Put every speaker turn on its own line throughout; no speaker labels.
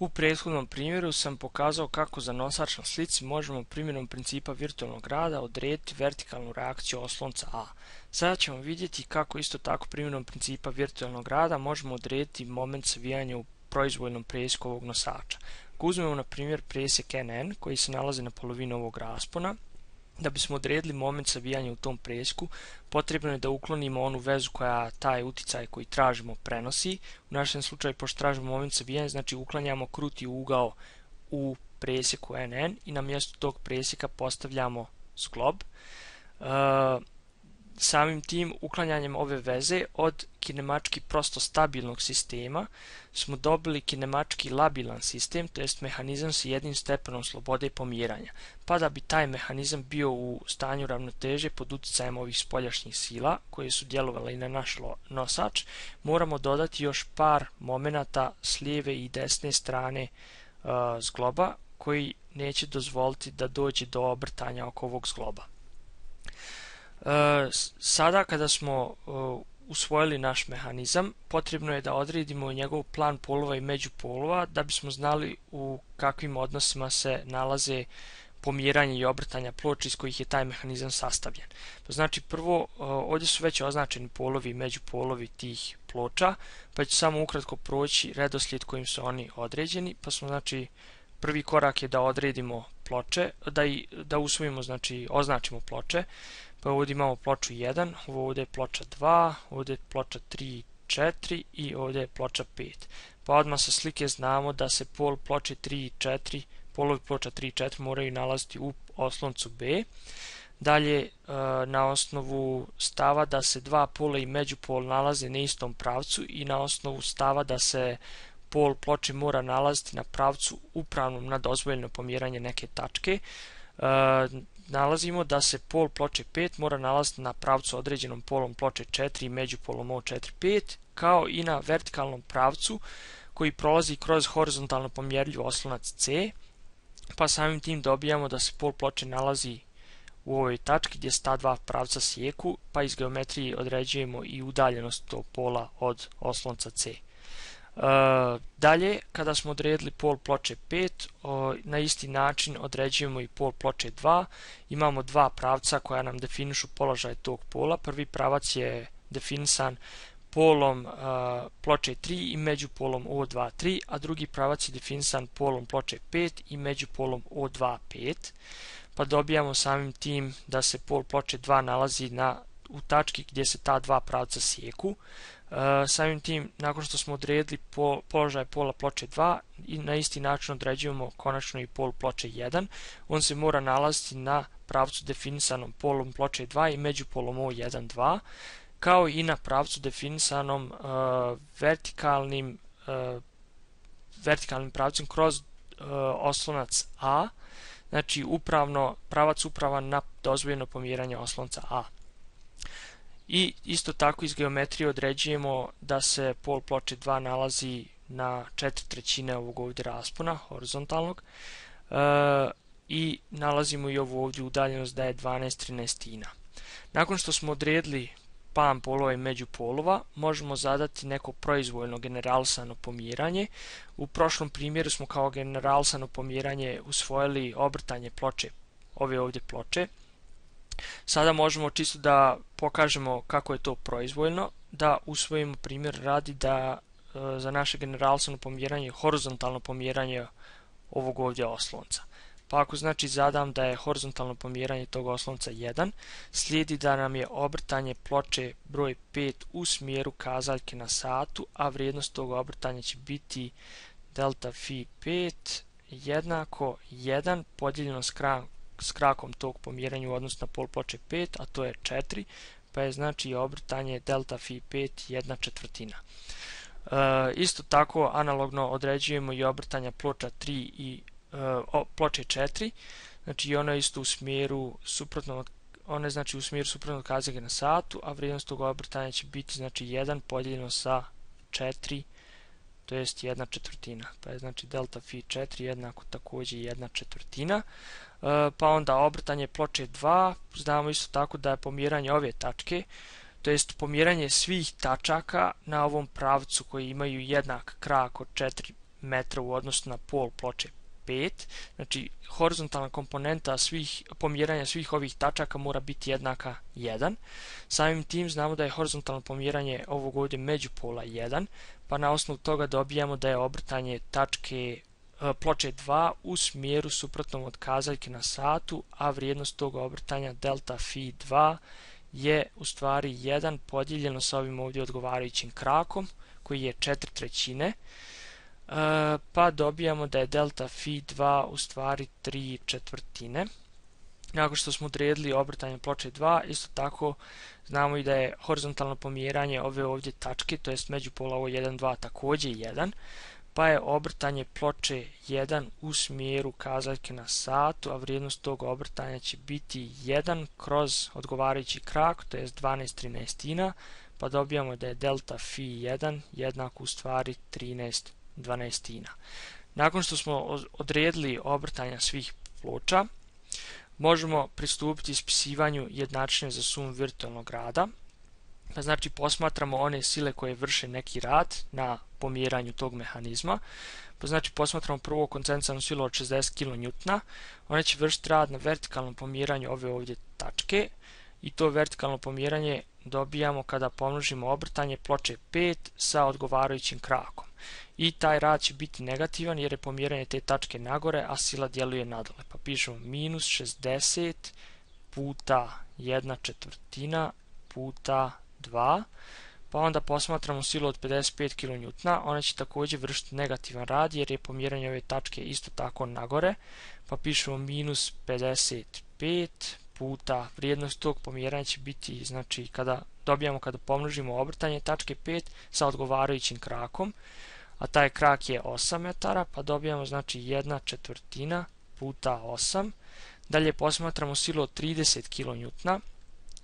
U prethodnom primjeru sam pokazao kako za nosač na slici možemo primjenom principa virtualnog rada odrediti vertikalnu reakciju oslonca A. Sada ćemo vidjeti kako isto tako primjenom principa virtualnog rada možemo odrediti moment savijanja u proizvoljnom presjeku ovog nosača. Ako uzmemo na primjer presjek NN koji se nalazi na polovini ovog raspona, da bismo odredili moment savijanja u tom presjeku, potrebno je da uklonimo onu vezu koja taj uticaj koji tražimo prenosi. U našem slučaju, pošto tražimo moment savijanja, znači uklanjamo kruti ugao u presjeku NN i na mjestu tog presjeka postavljamo zglob. Samim tim uklanjanjem ove veze od kinemački prosto stabilnog sistema smo dobili kinemački labilan sistem, to jest mehanizam sa jednim stepenom slobode pomjeranja. Pa da bi taj mehanizam bio u stanju ravnoteže pod utjecajem ovih spoljašnjih sila koje su djelovale i na naš nosač, moramo dodati još par momenata s lijeve i desne strane zgloba koji neće dozvoliti da dođe do obrtanja oko ovog zgloba. Sada kada smo usvojili naš mehanizam, potrebno je da odredimo njegov plan polova i međupolova da bismo znali u kakvim odnosima se nalaze pomjeranje i obrtanja ploča iz kojih je taj mehanizam sastavljen. Znači prvo, ovdje su već označeni polovi i međupolovi tih ploča, pa ću samo ukratko proći redoslijed kojim su oni određeni. Pa smo, znači, prvi korak je da odredimo ploče, da usvojimo, znači označimo ploče. Pa ovdje imamo ploču 1, ovdje je ploča 2, ovdje je ploča 3 i 4 i ovdje je ploča 5. Pa odmah sa slike znamo da se pol ploče 3 i 4, polovi ploča 3 i 4 moraju nalaziti u osloncu B. Dalje, na osnovu stava da se dva pola i međupol nalaze na istom pravcu i na osnovu stava da se pol ploče mora nalaziti na pravcu upravnom na dozvoljeno pomjeranje neke tačke, nalazimo da se pol ploče 5 mora nalaziti na pravcu određenom polom ploče 4 i međupolom O4-5, kao i na vertikalnom pravcu koji prolazi kroz horizontalno pomjerljiv oslonac C, pa samim tim dobijamo da se pol ploče nalazi u ovoj tački gdje se ta dva pravca sjeku, pa iz geometrije određujemo i udaljenost tog pola od oslonca C. Dalje, kada smo odredili pol ploče 5, na isti način određujemo i pol ploče 2. Imamo dva pravca koja nam definišu položaj tog pola. Prvi pravac je definisan polom ploče 3 i međupolom O2-3, a drugi pravac je definisan polom ploče 5 i međupolom O2-5. Pa dobijamo samim tim da se pol ploče 2 nalazi u tački gdje se ta dva pravca sjeku. Samim tim, nakon što smo odredili položaj pola ploče 2, i na isti način određujemo konačno i pol ploče 1, on se mora nalaziti na pravcu definisanom polom ploče 2 i međupolom O1-2, kao i na pravcu definisanom vertikalnim pravcem kroz oslonac A, znači pravac upravan na dozvoljeno pomjeranje oslonca A. I isto tako iz geometrije određujemo da se pol ploče 2 nalazi na 4/3 ovog ovdje raspona horizontalnog i nalazimo i ovu ovdje udaljenost da je 12/13. Nakon što smo odredili plan polova i međupolova, možemo zadati neko proizvoljno generalisano pomjeranje. U prošlom primjeru smo kao generalisano pomjeranje usvojili obrtanje ploče, ove ovdje ploče. Sada možemo čisto da pokažemo kako je to proizvoljno, da usvojimo primjer radi da za naše generalisano pomjeranje horizontalno pomjeranje ovog ovdje oslonca. Pa ako znači zadam da je horizontalno pomjeranje tog oslonca 1, slijedi da nam je obrtanje ploče broj 5 u smjeru kazaljke na satu, a vrijednost tog obrtanja će biti delta phi 5 jednako 1 podijeljeno s krakom tog pomjeranja u odnosu na pol ploče 5, a to je 4, pa je znači obrtanje delta phi 5 1/4. Isto tako analogno određujemo i obrtanja ploča 3 i ploče 4, znači ono je isto u smjeru suprotnog, one znači u smjeru suprotnog kazaljke na satu, a vrijednost tog obrtanja će biti znači 1 podijeljeno sa 4, to jest 1/4, pa je znači delta phi 4 jednako također 1/4. Pa onda obrtanje ploče 2, znamo isto tako da je pomjeranje ove tačke, to jest pomjeranje svih tačaka na ovom pravcu koji imaju jednak krak od 4 metra u odnosu na pol ploče 5. Znači, horizontalna komponenta pomjeranja svih ovih tačaka mora biti jednaka 1. Samim tim znamo da je horizontalno pomjeranje ovog ovdje međupola 1, pa na osnovu toga dobijamo da je obrtanje ploče 2 u smjeru suprotnom od kazaljke na satu, a vrijednost tog obrtanja delta phi 2 je u stvari 1 podijeljeno sa ovim ovdje odgovarajućim krakom koji je 4/3, pa dobijamo da je delta phi 2 u stvari 3/4. Nakon što smo odredili obrtanje ploče 2, isto tako znamo i da je horizontalno pomjeranje ove ovdje tačke, to jest međupola ovo 1, 2 također 1, pa je obrtanje ploče 1 u smjeru kazaljke na satu, a vrijednost tog obrtanja će biti 1 kroz odgovarajući krak, to jest 12/13, pa dobijamo da je delta phi 1 jednako u stvari 13/12. Nakon što smo odredili obrtanja svih ploča, možemo pristupiti ispisivanju jednačine za sumu virtualnog rada. Pa znači posmatramo one sile koje vrše neki rad na pomjeranju tog mehanizma. Pa znači posmatramo prvo koncentranu silu od 60 kN, ona će vršiti rad na vertikalnom pomjeranju ove ovdje tačke i to vertikalno pomjeranje dobijamo kada pomnožimo obrtanje ploče 5 sa odgovarajućim krakom. I taj rad će biti negativan jer je pomjeranje te tačke nagore, a sila djeluje nadole. Pa pišemo minus 60 puta 1/4 puta 2, pa onda posmatramo silu od 55 kN, ona će također vršiti negativan rad jer je pomjeranje ove tačke isto tako nagore, pa pišemo minus 55 puta vrijednost tog pomjeranja će biti, znači kada pomnožimo obrtanje tačke 5 sa odgovarajućim krakom, a taj krak je 8 metara, pa dobijamo znači 1/4 puta 8. Dalje posmatramo silu od 30 kN,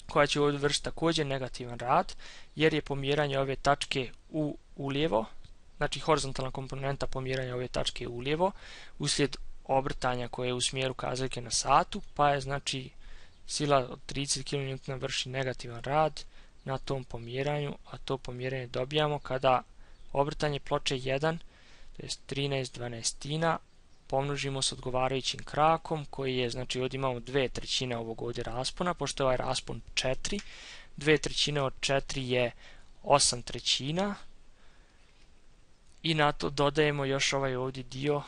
koja će ovdje vršiti također negativan rad, jer je pomjeranje ove tačke ulijevo, znači horizontalna komponenta pomjeranja ove tačke ulijevo, uslijed obrtanja koje je u smjeru kazaljke na satu, pa je znači sila od 30 kN vrši negativan rad na tom pomjeranju, a to pomjeranje dobijamo kada obrtanje ploče 1, to je 13/12, pomnožimo s odgovarajućim krakom koji je, znači ovdje imamo 2/3 ovog ovdje raspona, pošto je ovaj raspon 4, 2/3 od 4 je 8/3 i na to dodajemo još ovaj ovdje dio,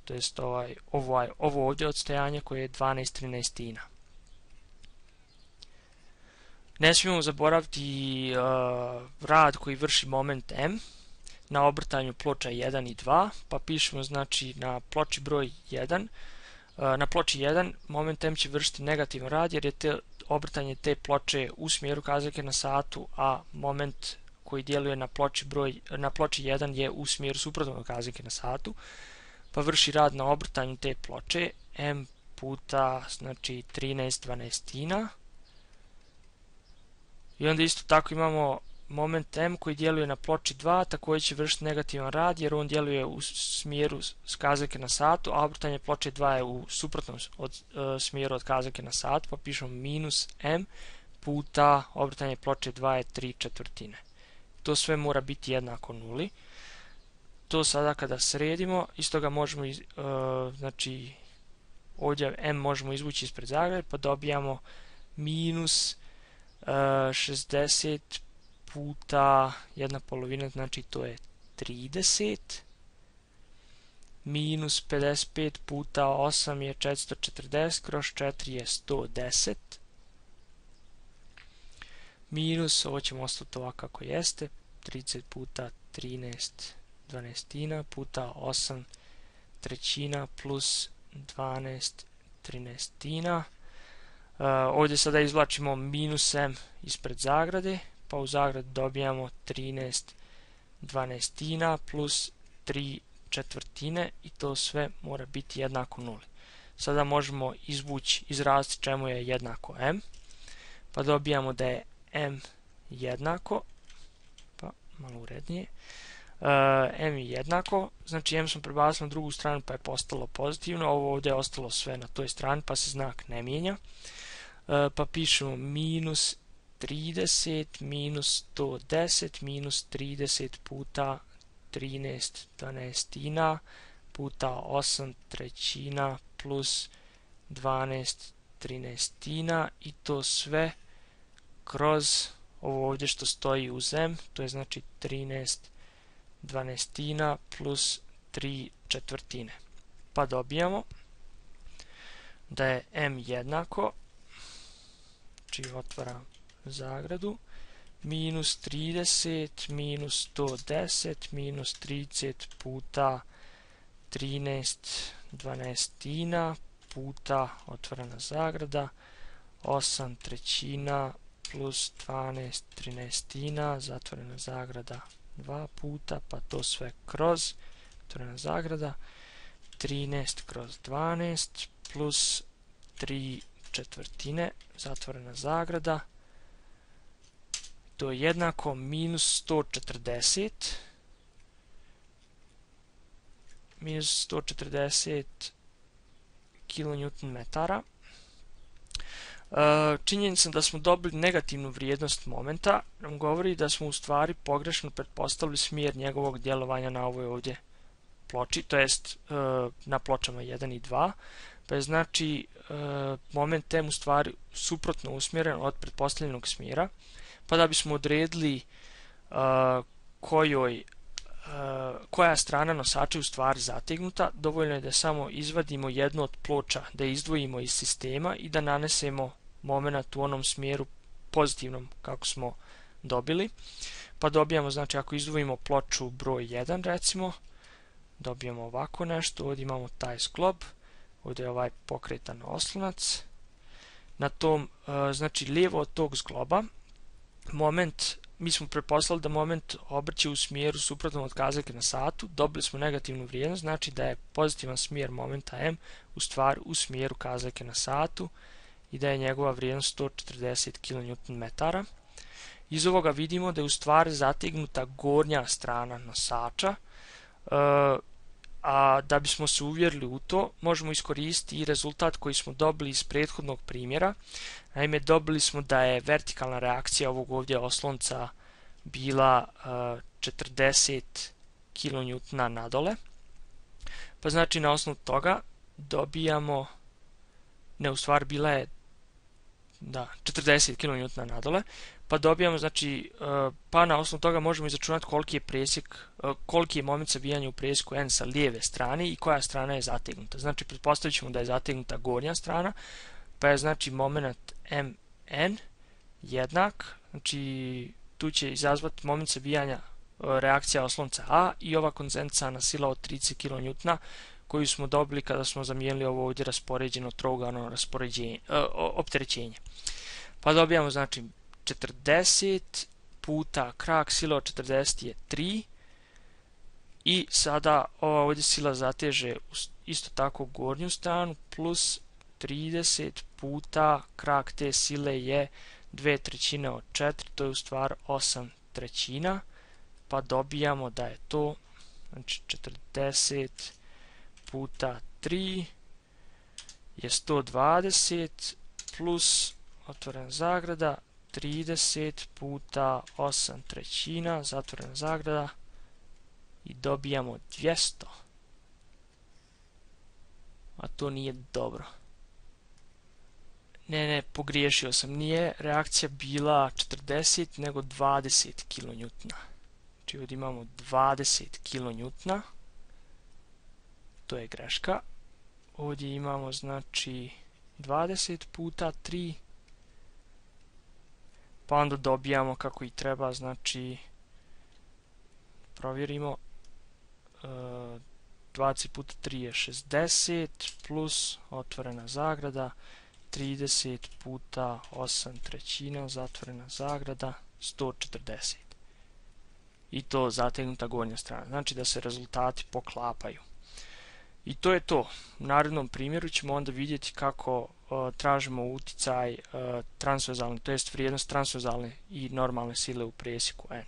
to jest ovo ovdje odstojanje koje je 12/13. Ne smijemo zaboraviti rad koji vrši moment M na obrtanju ploča 1 i 2, pa pišemo znači na ploči broj 1, na ploči 1 moment M će vršiti negativan rad jer je obrtanje te ploče u smjeru kazaljke na satu, a moment koji djeluje na ploči 1 je u smjeru suprotno od kazaljke na satu, pa vrši rad na obrtanju te ploče M puta znači 13/12. I onda isto tako imamo moment M koji djeluje na ploči 2, također će vršiti negativan rad jer on djeluje u smjeru kazaljke na satu, a obrtanje ploče 2 je u suprotnom smjeru od kazaljke na sat, pa pišemo minus M puta obrtanje ploče 2 je 3/4. To sve mora biti jednako nuli. To sada kada sredimo, iz toga možemo, znači ovdje M možemo izvući ispred zagrade, pa dobijamo minus 60 puta 1/2, znači to je 30, minus 55 puta 8 je 440, kroz 4 je 110, minus, ovo ćemo ostati ovako kako jeste, 30 puta 13/12 puta 8/3 plus 12/13. Ovdje sada izvlačimo minus M ispred zagrade, pa u zagradi dobijamo 13/12 plus 3/4 i to sve mora biti jednako nuli. Sada možemo izraziti čemu je jednako M, pa dobijamo da je M jednako, pa malo urednije, M je jednako, znači M smo prebacili na drugu stranu pa je postalo pozitivno, ovo ovdje je ostalo sve na toj strani pa se znak ne mijenja, pa pišemo minus 30 minus 110 minus 30 puta 13 dvanaestina puta 8 trećina plus 12 trinaestina i to sve kroz ovo ovdje što stoji uz m, to je znači 13 dvanaestina plus 3 četvrtine. Pa dobijamo da je m jednako, znači otvaram zagradu, minus 30 minus 110 minus 30 puta 13 dvanaestina puta, otvorena zagrada, 8 trećina plus 12 trinaestina, zatvorena zagrada 2 puta, pa to sve kroz, otvorena zagrada, 13 kroz 12 plus 3 četvrtine, zatvorena zagrada, to je jednako minus 140 kN/m. Činjenica da smo dobili negativnu vrijednost momenta nam govori da smo u stvari pogrešno pretpostavili smjer njegovog djelovanja na ovoj ovdje ploči, to jest na pločama 1 i 2, pa je znači moment m u stvari suprotno usmjeren od pretpostavljenog smjera, pa da bismo odredili koja strana nosača je u stvari zategnuta, dovoljno je da samo izvadimo jednu od ploča, da je izdvojimo iz sistema i da nanesemo moment u onom smjeru pozitivnom kako smo dobili. Pa dobijamo, znači ako izdvojimo ploču broj 1 recimo, dobijemo ovako nešto, ovdje imamo taj sklob, ovdje je ovaj pokretan oslonac. Na tom, znači lijevo od tog zgloba, moment, mi smo pretpostavili da moment obrće u smjeru suprotnom od kazaljke na satu, dobili smo negativnu vrijednost, znači da je pozitivan smjer momenta m u stvari u smjeru kazaljke na satu i da je njegova vrijednost 140 kN/m. Iz ovoga vidimo da je u stvari zategnuta gornja strana nosača, a da bismo se uvjerili u to, možemo iskoristiti i rezultat koji smo dobili iz prethodnog primjera. Naime, dobili smo da je vertikalna reakcija ovog ovdje oslonca bila 40 kN nadole. Pa znači na osnovu toga dobijamo, ne u stvari bila je 40 kN nadole, pa dobijamo, znači, pa na osnovu toga možemo izračunati koliki je moment sabijanja u presjeku n sa lijeve strane i koja strana je zategnuta. Znači, pretpostavit ćemo da je zategnuta gornja strana, pa je znači moment mn jednak, znači tu će izazvati moment sabijanja reakcija oslonca A i ova kondensaciona sila od 30 kN koju smo dobili kada smo zamijenili ovo ovdje raspoređeno trougalno opterećenje. Pa dobijamo znači 40 puta krak sila od 40 je 3 i sada ova ovdje sila zateže isto tako gornju stranu plus 30 puta krak te sile je 2/3 od 4, to je u stvari 8/3, pa dobijamo da je to znači 40 puta 3 je 120 plus otvorena zagrada 30 puta 8/3 zatvorena zagrada i dobijamo 200, a to nije dobro. Ne, pogriješio sam, nije reakcija bila 40 nego 20 kN. Znači ovdje imamo 20 kN, to je greška. Ovdje imamo znači 20 puta 3, pa onda dobijamo kako i treba, znači provjerimo, 20 puta 3 je 60 plus otvorena zagrada 30 puta 8/3 zatvorena zagrada 140 i to zategnuta gornja strana, znači da se rezultati poklapaju. I to je to. U narednom primjeru ćemo onda vidjeti kako tražimo uticaj transverzalne, to jest vrijednost transverzalne i normalne sile u presjeku n.